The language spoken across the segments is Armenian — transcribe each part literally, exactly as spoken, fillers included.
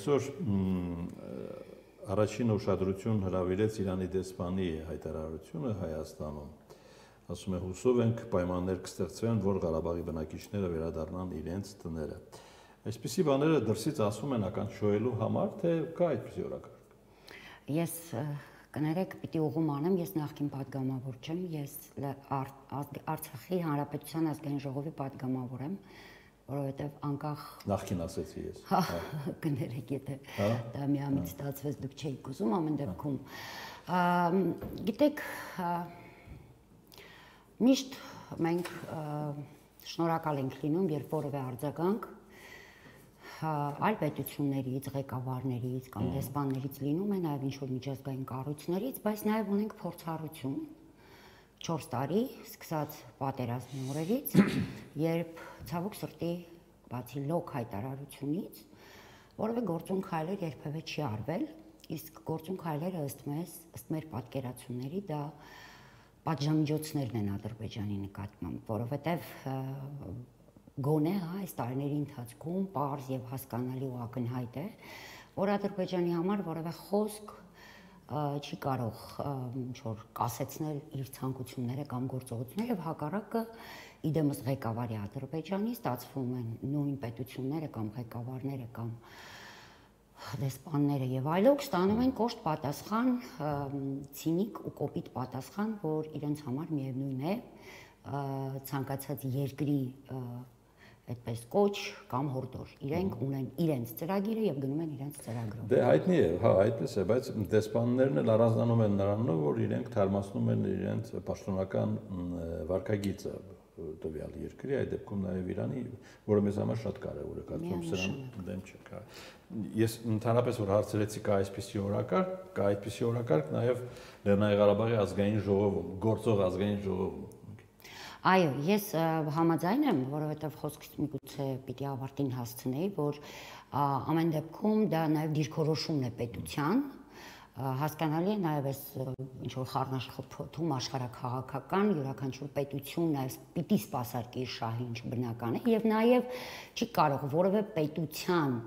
այսօր առաջին ուշադրություն հրավիրեց Իրանի դեսպանի հայտարարությունը Հայաստանում։ Ասում է հուսով ենք պայմաններ կստեղծվեն, որ Ղարաբաղի բնակիչները վերադառնան իրենց տները։ Այսպիսի բաները դրսից ասում են ականջոյելու համար, թե կա այդպիսի օրակարգ։ Ես կներեք, պիտի ուղում անեմ, ես նախկին պատգամավոր չեմ, ես Արցախի Հանրապետության ազգային ժողովի պատգամավոր եմ, որովհետև անկախ նախկին ասեցի ես։ Կներեք, եթե դա միամիտ ստացվեց, դուք չէիք ուզում ամեն դեպքում։ Գիտեք, միշտ մենք շնորհակալ ենք լինում, երբ որևէ արձագանք այլ պետություններից, ղեկավարներից կամ դեսպաններից լինում է, նաև ինչ-որ միջազգային կառույցներից, բայց նաև ունենք փորձառություն չորս տարի, սկսած պատերազմի օրերից, երբ ցավոք սրտի բացի լոկ հայտարարությունից որևէ գործուն քայլեր երբևէ չի արվել, իսկ գործուն քայլերը ըստ մեզ, ըստ մեր պատկերացումների դա պատժամիջոցներն են Ադրբեջանի նկատմամբ, որովհետև գոնե այս տարիների ընթացքում պարզ եւ հասկանալի ու ակնհայտ է, որ Ադրբեջանի համար որևէ խոսք չի կարող ինչ-որ կասեցնել իր ցանկությունները կամ գործողությունները եւ հակառակը իդեմս ղեկավարի Ադրբեջանի ստացվում են նույն պետությունները կամ ղեկավարները կամ դեսպանները եւ այլոք ստանում են կոշտ պատասխան, ցինիկ ու կոպիտ պատասխան, որ իրենց համար միևնույն է ցանկացած երկրի այդպես կոչ կամ հորդոր։ Իրենք ունեն իրենց ծրագիրը եւ գնում են իրենց ծրագրով։ Դե հայտնի է, հա, այդպես է, բայց դեսպաններն էլ առանձնանում են նրանով, որ իրենք թարմացնում են իրենց պաշտոնական վարքագիծը տվյալ երկրի, այդ դեպքում նաև Իրանի, որը մեզ համար շատ կարևոր է, կարծում սրան դեմ չեք։ Ես ընդհանրապես որ հարցրեցի կա այսպիսի օրակարգ, կա այդպիսի օրակարգ նաև Լեռնային Ղարաբաղի ազգային ժողովում, գործող ազգային ժողովում։ Այո, ես համաձայն եմ, որովհետև խոսքից միգուցե պիտի ավարտին հասցնեի, որ ամեն դեպքում դա նաև դիրքորոշումն է պետության, հասկանալի է նաև այս ինչ-որ խառնաշփոթում աշխարհաքաղաքական յուրաքանչյուր պետություն նաև պիտի սպասարկի իր շահի, ինչ բնական է, եւ նաև չի կարող որևէ պետության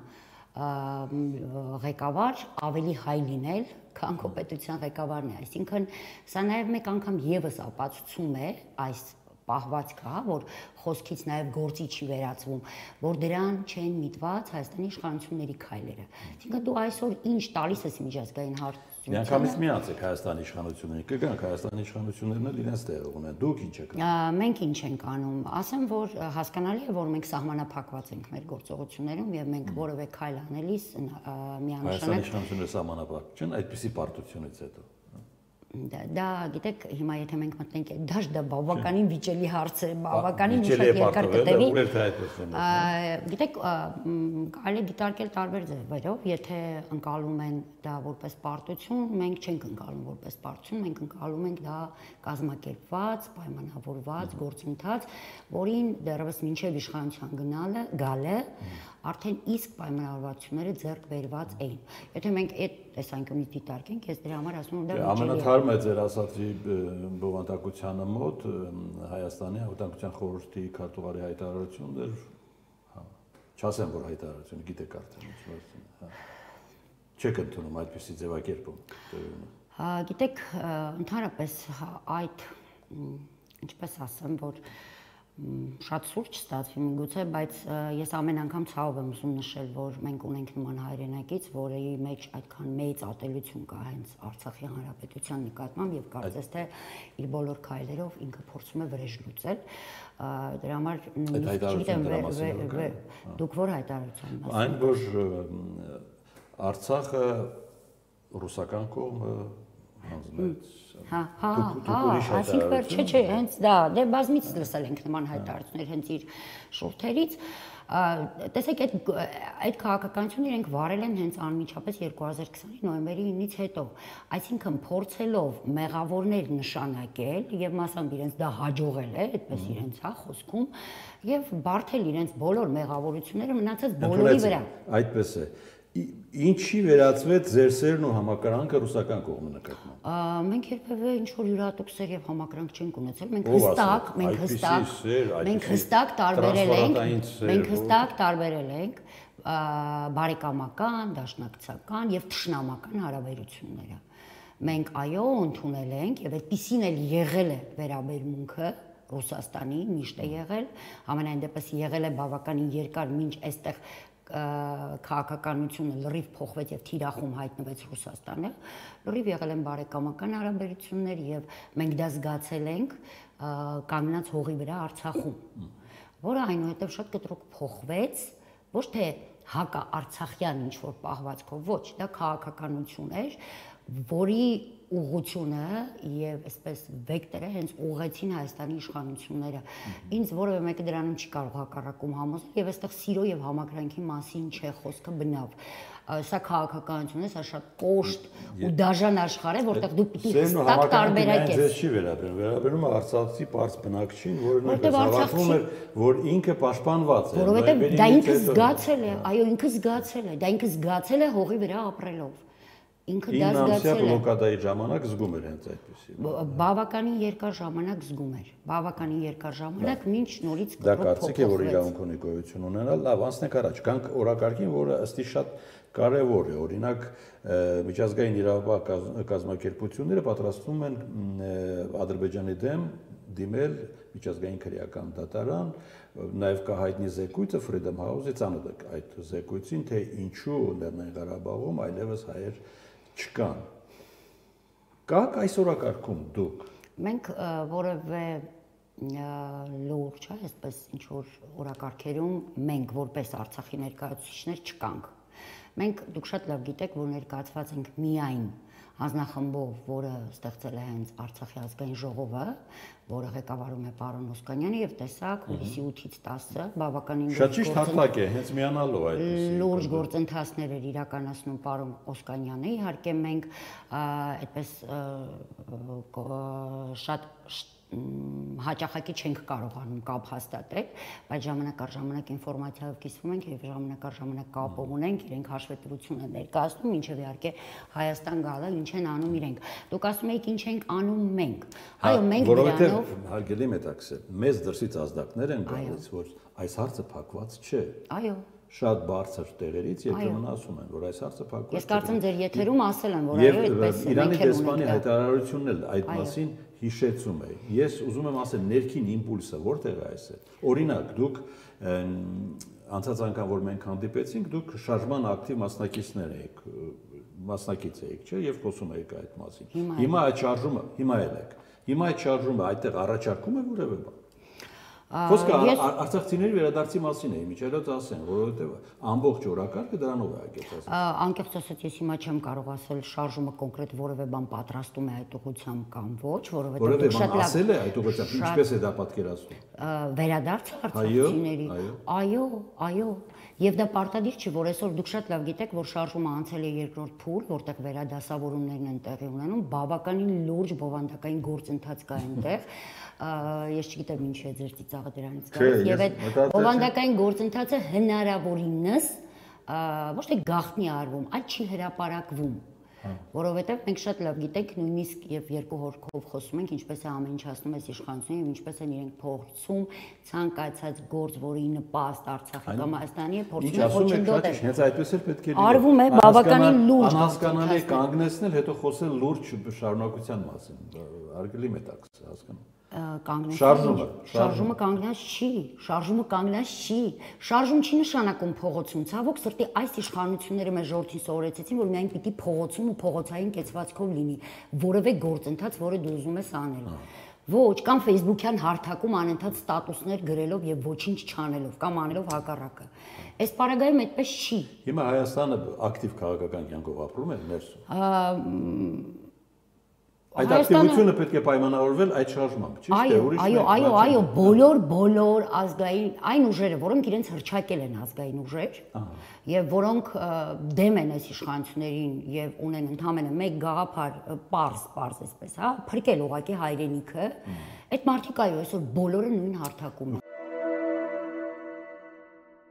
ղեկավար ավելի հայ լինել, քան քո պետության ղեկավարն է, այսինքն սա նաև մեկ անգամ եւս ապացուցում է այս պահվածքը, որ խոսքից նաև գործի չի վերածվում, որ դրան չեն միտված Հայաստանի իշխանությունների քայլերը։ Այսինքն դու այսօր ինչ տալիս ես միջազգային հարցությունները։ Միանգամից միացեք Հայաստանի իշխանություններին, կգանք Հայաստանի իշխանություններն էլ իրենց տեղը ունեն, դուք ինչ եք անում։ Մենք ինչ ենք անում, ասեմ, որ հասկանալի է, որ մենք սահմանափակված ենք մեր գործողություններում եւ մենք որևէ քայլ անելիս միանշանակ Հայաստանի իշխանությունները սահմանափակ չեն այդպիսի պարտությունից հետո։ Դա գիտեք, հիմա եթե մենք մտնենք դաշ դա բավականին վիճելի հարց է, բավականին շատ երկար կտևի։ Գիտեք, կարելի է դիտարկել տարբեր ձևերով, եթե ընկալում են դա որպես պարտություն, մենք չենք ընկալում որպես պարտություն, մենք ընկալում ենք դա կազմակերպված, պայմանավորված գործընթաց, որին դեռևս մինչև իշխանության գնալը, գալը արդեն իսկ պայմանավորվածությունները ձեռք բերված էին։ Եթե մենք այդ տեսանկյունից դիտարկենք, ես դրա համար ասում եմ դա ամենաթարմը է ձեր ասածի բովանդակությանը մոտ Հայաստանի Անվտանգության խորհրդի քարտուղարի հայտարարությունն էր, հա, չասեմ որ հայտարարությունը գիտեք արդեն, հա, չեք ընդունում այդպիսի ձևակերպում։ Գիտեք, ընդհանրապես այդ ինչպես ասեմ, որ շատ սուրճ ստացվի միգուցե, բայց ես ամեն անգամ ցավ եմ ուզում նշել, որ մենք ունենք նման հայրենակից, որի մեջ այդքան մեծ ատելություն կա հենց Արցախի Հանրապետության նկատմամբ եւ կարծես թե իր բոլոր քայլերով ինքը փորձում է վրեժ լուծել։ Դրա համար նույնիսկ դուք որ հայտարարության մաս։ Այն որ Արցախը ռուսական կողմը հանձնեց։ Հա, հա, հա, այսինքն որ չէ, չէ, հենց դա, դե բազմից լսել ենք նման հայտարարություններ հենց իր շուրթերից։ Տեսեք, այդ այդ քաղաքականությունը իրենք վարել են հենց անմիջապես երկու հազար քսանի նոյեմբերի ինից հետո, այսինքն փորձելով մեղավորներ նշանակել եւ մասամբ իրենց դա հաջողել է, այդպես իրենց հա խոսքում, եւ բարթել իրենց բոլոր մեղավորությունները մնացած բոլորի վրա։ Այդպես է։ Ինչի վերածվեց ձեր սերն ու համակրանքը ռուսական կողմի նկատմամբ։ Մենք երբևէ ինչ որ յուրատուկ եւ համակրանք չենք ունեցել, մենք հստակ, մենք հստակ, մենք հստակ տարբերել ենք, մենք հստակ տարբերել ենք բարեկամական, դաշնակցական եւ թշնամական հարաբերությունները։ Մենք այո ընդունել ենք եւ այդպիսին էլ եղել է վերաբերմունքը Ռուսաստանի միշտ է եղել, ամենայն դեպս եղել է բավականին երկար, մինչ այստեղ քաղաքականությունը լրիվ փոխվեց եւ թիրախում հայտնվեց Ռուսաստանը, լրիվ եղել են բարեկամական հարաբերություններ եւ մենք դա զգացել ենք կանգնած հողի վրա Արցախում, որը այնուհետև շատ կտրուկ փոխվեց, ոչ թե հակա-արցախյան ինչ որ պահվածքով, ոչ, դա քաղաքականություն էր, որի ուղղությունը եւ այսպես վեկտորը հենց ուղղեցին Հայաստանի իշխանությունները։ Ինձ որևէ մեկը դրանում չի կարող հակառակում համոզել եւ այստեղ սիրո եւ համակրանքի մասին չէ խոսքը բնավ։ Սա քաղաքականություն է, սա շատ կոշտ ու դաժան աշխարհ է, որտեղ դու պիտի հստակ տարբերակ ես։ Ձեզ չի վերաբերում, վերաբերում է արցախցի պարզ բնակչին, որը նույնպես հավատում էր, որ ինքը պաշտպանված է։ Որովհետեւ դա ինքը զգացել է, այո, ինքը զգացել է, դա ինքը զգացել է հողի վրա ապրելով։ Ինքը դա զգացել է։ Բլոկադայի ժամանակ զգում էր հենց այդպեսի։ Բավականին երկար ժամանակ զգում էր։ Բավականին երկար ժամանակ մինչ նորից դա կարծիք է, որ իրավունք ունի գոյություն ունենալ, լավ, անցնենք առաջ։ Գանք օրակարգին, որը ըստի շատ կարևոր է։ Օրինակ, միջազգային իրավապահ կազմակերպությունները պատրաստվում են Ադրբեջանի դեմ դիմել միջազգային քրեական դատարան, նաև կա հայտնի զեկույցը Freedom House-ի ծանոթ այդ զեկույցին, թե ինչու Լեռնային Ղարաբաղում այլևս հայեր չկան։ Կաք այս օրակարգում դուք։ Մենք որևէ լուրջ, այսպես ինչ որ օրակարգերում մենք որպես Արցախի ներկայացուցիչներ չկանք։ Մենք դուք շատ լավ գիտեք, որ ներկայացված ենք միայն հանձնախմբով, որը ստեղծել է հենց Արցախի ազգային ժողովը, որը ղեկավարում է պարոն Օսկանյանը եւ տեսակ հուլիսի ութից տասը բավականին շատ ճիշտ հատակ է, հենց միանալով այդպես լուրջ գործընթացներ էր իրականացնում պարոն Օսկանյանը, իհարկե մենք այդպես շատ հաճախակի չենք կարողանում կապ հաստատել, բայց ժամանակ առ ժամանակ ինֆորմացիայով կիսվում ենք եւ ժամանակ առ ժամանակ կապ ունենք, իրենք հաշվետվություն են ներկայացնում, ինչեւ իհարկե Հայաստան գալը ինչ են անում իրենք։ Դուք ասում եք ինչ ենք անում մենք։ Այո, մենք որովհետեւ հարգելի մետաքսել, մեզ դրսից ազդակներ են գալիս, որ այս հարցը փակված չէ։ Այո։ Շատ բարձր տեղերից երբեմն ասում են, որ այս հարցը փակված չէ։ Ես կարծում ձեր եթերում ասել են, որ այո, այդպես է։ Իրանի դեսպանի հայտարարությունն էլ այդ մասին հիշեցում է։ Ես ուզում եմ ասել, ներքին իմպուլսը որտեղ է այս է։ Օրինակ, դուք անցած անգամ որ մենք հանդիպեցինք, դուք շարժման ակտիվ մասնակիցներ եք, մասնակից եք, չէ՞, եւ խոսում եք այդ մասին։ Հիմա այդ շարժումը, հիմա էլ եք։ Հիմա այդ շարժումը այդտեղ առաջարկում է որևէ բան։ Խոսքը արցախցիների վերադարձի մասին է, միջելոց ասեն, որովհետև ամբողջ օրակարգը դրանով է ագեցած։ Անկեղծ ասած, ես հիմա չեմ կարող ասել շարժումը կոնկրետ որևէ բան պատրաստում է այդ ուղղությամբ կամ ոչ, որովհետև դուք շատ լավ ասել է այդ ուղղությամբ, ինչպես է դա պատկերացնում։ Վերադարձը արցախցիների։ Այո, այո։ Եվ դա պարտադիր չի, որ այսօր դուք շատ լավ գիտեք, որ շարժումը անցել է երկրորդ փուլ, որտեղ վերադասավորումներն են տեղի ունենում, բավականին լուրջ բովանդակային գործընթաց կա այնտեղ։ Ես չգիտեմ ինչ է ձեր ծիծաղը դրանից գալիս, եւ այդ բովանդակային գործընթացը հնարավորինս ոչ թե գաղտնի արվում, այլ չի հրապարակվում, որովհետեւ մենք շատ լավ գիտենք, նույնիսկ եւ երկու հորքով խոսում ենք, ինչպես է ամեն ինչ հասնում այս իշխանությունը եւ ինչպես են իրենք փորձում ցանկացած գործ, որի նպաստ Արցախի կամ Հայաստանի է, փորձում են ոչնդոտել։ Հենց այդպես էլ պետք է լինի։ Արվում է բավականին լուրջ անհասկանալի կանգնեցնել, հետո խոսել լուրջ շարունակության մասին։ Արգելի մետաքս, հասկանում։ Շարժումը շարժումը կանգնած չի, շարժումը կանգնած չի, շարժում չի նշանակում փողոցում, ցավոք սրտի այս իշխանությունները մեզ ժողովրդին սովորեցին, որ միայն պիտի փողոցում ու փողոցային կեցվածքով լինի որևէ գործընթաց, որը դու ուզում ես անել։ Ոչ, կամ Facebook-յան հարթակում անընդհատ ստատուսներ գրելով եւ ոչինչ չանելով կամ անելով հակառակը։ Այս պարագայում այդպես չի։ Հիմա Հայաստանը ակտիվ քաղաքական կյանքով ապրում է ներսում։ Այդ ակտիվությունը պետք է պայմանավորվել այդ շարժմամբ, ճիշտ է, ուրիշ։ Այո, այո, այո, բոլոր բոլոր ազգային այն ուժերը, որոնք իրենց հրճակել են ազգային ուժեր, եւ որոնք դեմ են այս իշխանություններին եւ ունեն ընդհանրապես մեկ գաղափար, պարզ, պարզ էսպես, հա, փրկել ուղակի հայրենիքը, այդ մարդիկ այո, այսօր բոլորը նույն հարթակում են։